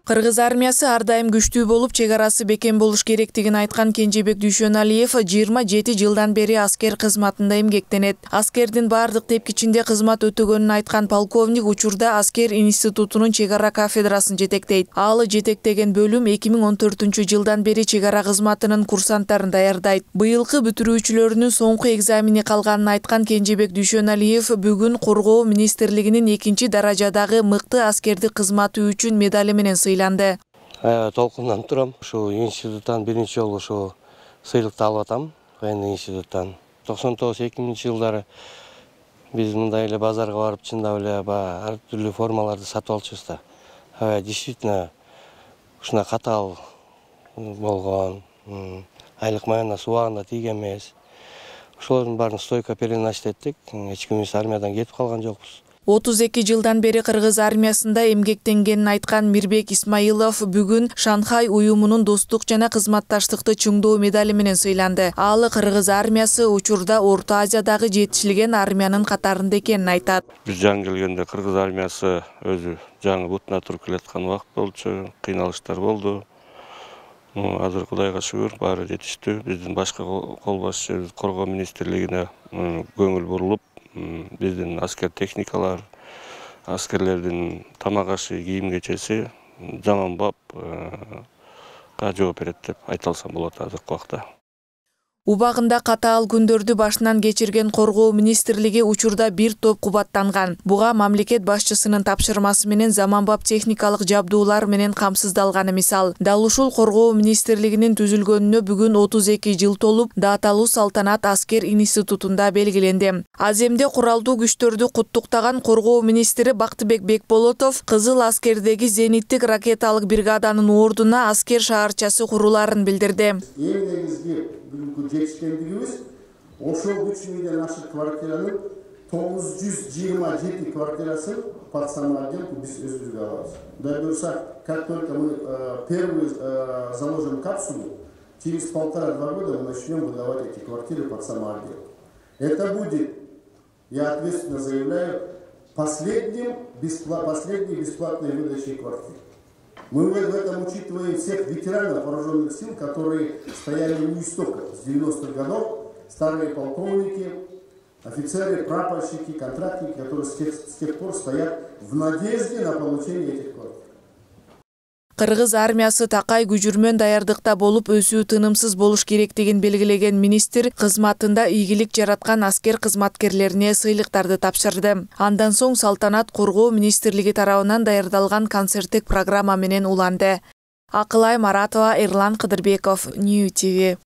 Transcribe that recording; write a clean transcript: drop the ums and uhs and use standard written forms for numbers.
Кыргыз армиясы ар дайым күчтүү болуп, чек арасы бекем болуш керектигин айткан Кенжебек Дүйшөналиев 27 жылдан бери аскер кызматында эмгектенет. Аскердин бардык тепкичинде кызмат өтөгөнүн айткан полковник учурда аскер институтунун чек ара кафедрасын жетектейт. Ал жетектеген бөлүм 2014 жылдан бери чек ара кызматынын курсанттарын даярдайт. Быйылкы бүтүрүүчүлөрүнүн соңку экзамени калганын айткан Кенжебек Дүйшөналиев бүгүн Коргоо министрлигинин 2-даражадагы мыкты аскердик кызматы үчүн медали менен сыйланды. Толкундан турам. Ушу институттан биринчи жолу ушу сыйлыкты алып атам. Военный институттан. 99-2000 жылдары биз мындай эле базарга барып чындап эле ар түрлүү формаларды сатып алчубуз да. Действительно ушуна катаал болгон, айлык маянасы убагында тийген эмес. Ошолордун баарын стойко перенач эттик. Эч кимибиз армиядан кетип калган жокпуз. 32 жылдан бери Кыргыз армиясында эмгектенгенин айткан Мирбек Исмаилов бүгүн Шанхай уюмунун достук жана кызматташтыкты чыңдоо медали менен сыйланды. Ал Кыргыз армиясы учурда Орто Азиядагы жетишилген армиянын катарында экенин айтат. Биз жаңы келгенде Кыргыз армиясы өзү жаңы бутуна туруп келаткан убакыт болчу, кыйналыштар болду. Азыр Кудайга шүгүр баары жетиштүү. Биздин башкы кол башчыбыз Коргоо министрлигине көңүл бурулуп, биздин аскер техникалар, аскерлердин тамак ашы, кийим кечеси заманбапка жооп берет деп айта алсам болот азыркы убакта. Убагында катаал күндөрдү башынан кечирген Коргоо министрлиги учурда бир топ кубаттанган. Буга мамлекет башчысынын тапшырмасы менен заманбап техникалык жабдуулар менен камсыздалганы мисал. Дал ушул Коргоо министрлигинин түзүлгөнүнө бүгүн 32 жыл толуп, даталуу салтанат аскер институтунда белгиленди. Аземде куралдуу күчтөрдү куттуктаган Коргоо министри Бактыбек Бекболотов Кызыл аскердеги зениттик ракеталык бригаданын ордуна аскер шаарчасы куруларын билдирди. Бүгүнкү жетишкендигибиз ошол 3000ден ашык квартиранын 927 квартирасын под самоотделку биз өзүбүзгө алабыз. Дай буюрса, как только мы первый заложим капсулу, через 1,5-2 года мы начнем выдавать эти квартиры под самоотделку. Это будет, я ответственно заявляю, последней бесплатной выдачей квартир. Мы в этом учитываем всех ветеранов вооруженных сил, которые стояли у истоков с 90-х годов, старые полковники, офицеры, прапорщики, контрактники, которые с тех пор стоят в надежде на получение этих квартир. Кыргыз армиясы такай күжүрмөн даярдыкта болуп, өсүү тынымсыз болуш керектигин белгилеген министр кызматында ийгилик жараткан аскер кызматкерлерине сыйлыктарды тапшырды. Андан соң салтанат Коргоо министрлиги тарабынан даярдалган концерттик программа менен уланды. Акылай Маратова, Эрлан Кыдырбеков, Нью ТВ.